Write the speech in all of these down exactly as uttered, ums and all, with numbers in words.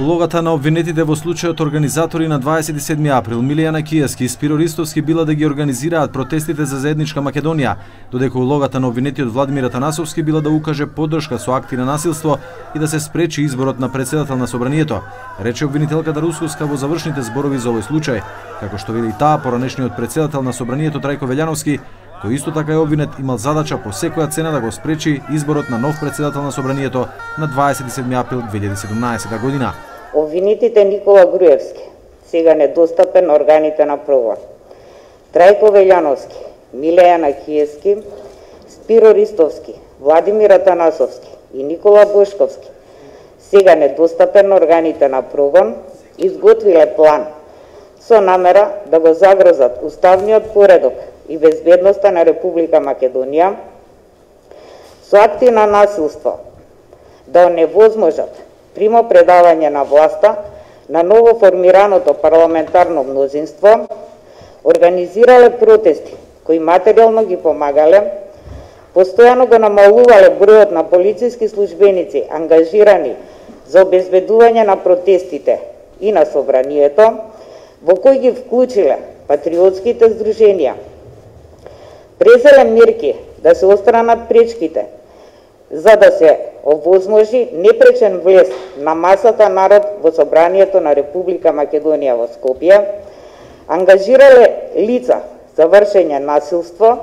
Улогата на обвинетите во случајот организатори на дваесет и седми април Милијана Кијевски и Спиро Ристовски била да ги организираат протестите за заедничка Македонија, додека улогата на обвинетиот Владимир Атанасовски била да укаже поддршка со акти на насилство и да се спречи изборот на претседател на собранието, рече обвинителката Русковска во завршните зборови за овој случај, како што вели и таа поранешниот претседател на собранието Трајко Велјановски, кој исто така е обвинет, имал задача по секоја цена да го спречи изборот на нов претседател на собранието на дваесет и седми април две илјади и седумнаесета година. Обвинетите Никола Груевски, сега недостапен на органите на прогон, Трајко Велјановски, Милијана Киевски, Спиро Ристовски, Владимир Атанасовски и Никола Бошковски, сега недостапен на органите на прогон, изготвиле план со намера да го загрозат уставниот поредок и безбедноста на Република Македонија, со акти на насилство да оневозможат примо предавање на власта на ново формираното парламентарно мнозинство, организирале протести кои материјално ги помагале, постојано го намалувале бројот на полициски службеници ангажирани за обезбедување на протестите и на собранието, во кои ги вклучиле патриотските здруженија. Презеле мерки да се отстранат пречките за да се овозможи непречен влез на масата народ во собранието на Република Македонија во Скопје, ангажирале лица за вршење насилство.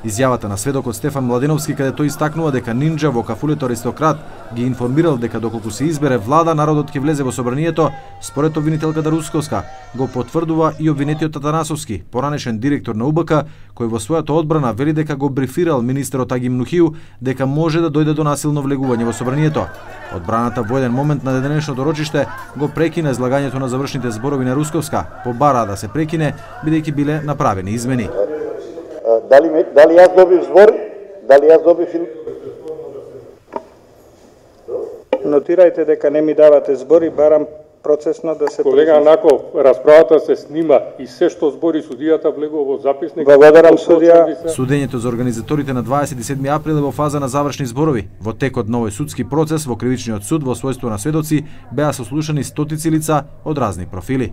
Изјавата на сведокот Стефан Младеновски, каде тој истакнува дека Нинџа во кафулето Аристократ ги информирал дека доколку се избере влада, народот ќе влезе во собранието, според обвинителката Русковска, го потврдува и обвинетиот Атанасовски, поранешен директор на У Б К, кој во својата одбрана вели дека го брифирал министерот Аги Мнухију дека може да дојде до насилно влегување во собранието. Одбраната во еден момент на денешното рочиште го прекина излагањето на завршните зборови на Русковска, побара да се прекине бидејќи биле направени измени. Дали, дали јас добив збор? Дали јас добив... Нотирајте дека не ми давате збори, барам процесно да се... Колега Анаков, расправата се снима и се што збори судијата влегува во записник. Благодарам, судија. Судењето за организаторите на дваесет и седми април е во фаза на завршни зборови. Во текот на овој судски процес во кривичниот суд во својство на сведоци беа сослушани стотици лица од разни профили.